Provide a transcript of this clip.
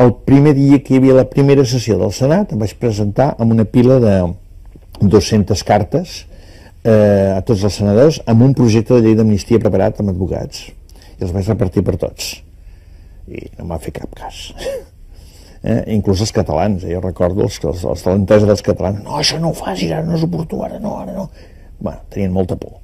el primer dia que hi havia la primera sessió del Senat em vaig presentar amb una pila de 200 cartes a tots els senadors amb un projecte de llei d'amnistia preparat amb advocats i els vaig repartir per tots i no m'ha fet cap cas. Inclús els catalans, jo recordo els de l'entesa dels catalans, no, això no ho facis, ara no és oportú, ara no. Bueno, tenien molta por.